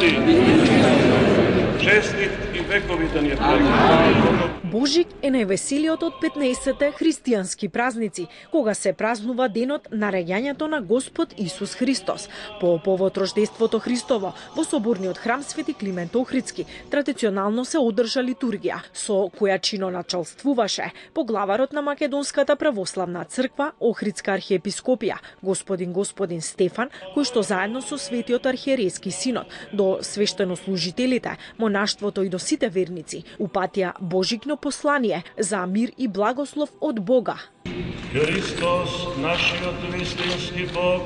родили. Честит и векови да ни е празник. Божик е највеселиот од 15-те христијански празници, кога се празнува денот на раѓањето на Господ Исус Христос. По повод рождеството Христово, во соборниот храм Свети Климент Охридски традиционално се одржа литургија, со која чиноначалствуваше поглаварот на Македонската православна црква Охридска архиепископија, господин Стефан, кој што заедно со светиот архиерејски синод до свештенослужителите, монаштвото и до сите верници упатија Божикно послание за мир и благослов од Бога. Христос, нашиот вистински Бог,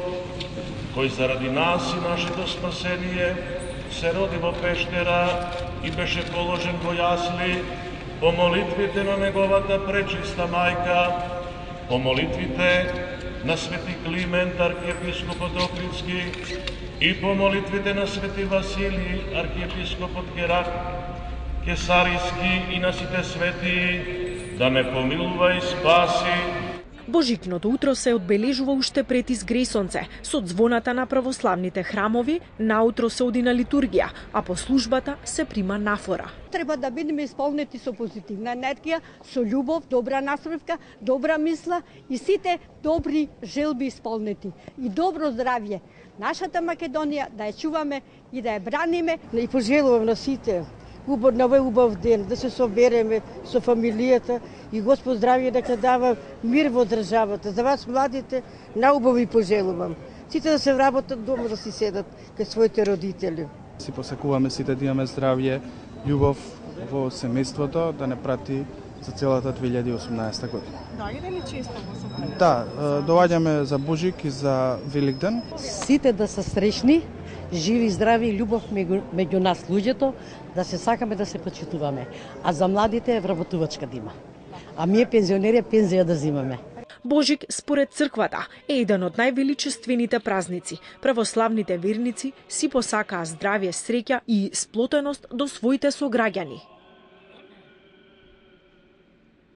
кој заради нас и нашето спасение се роди во пештера и беше положен во јасли, по молитвите на неговата пречиста мајка, по молитвите на Свети Климент, архиепископот Охридски, и по молитвите на Свети Василий, архиепископот Герак, Кесариски и на сите свети, да не помилува и спаси. Божикното утро се одбележува уште пред изгресонце, со звоната на православните храмови, наутро се оди на литургија, а по службата се прима нафора. Треба да бидеме исполнети со позитивна енергија, со љубов, добра насмевка, добра мисла и сите добри желби исполнети. И добро здравје. Нашата Македонија да ја чуваме и да ја браниме. И пожелувам на сите на овој убав ден, да се собереме со фамилијата и Господ здравје дека дава мир во државата. За вас младите наубави пожелувам. Сите да се вработат дома, да си седат кај своите родители. Си посакуваме сите да имаме здравје, љубов во семејството, да не прати за целата 2018 година. Доаѓате ли често во собрание? Да, доаѓаме за Божик и за Великден. Сите да се среќни, живи, здрави и љубов меѓу нас луѓето, да се сакаме да се почитуваме. А за младите вработувачка да има. А ние пензионери пензија да земаме. Божик, според црквата, е еден од највеличествените празници. Православните верници си посакаа здравје, среќа и сплотеност до своите сограѓани.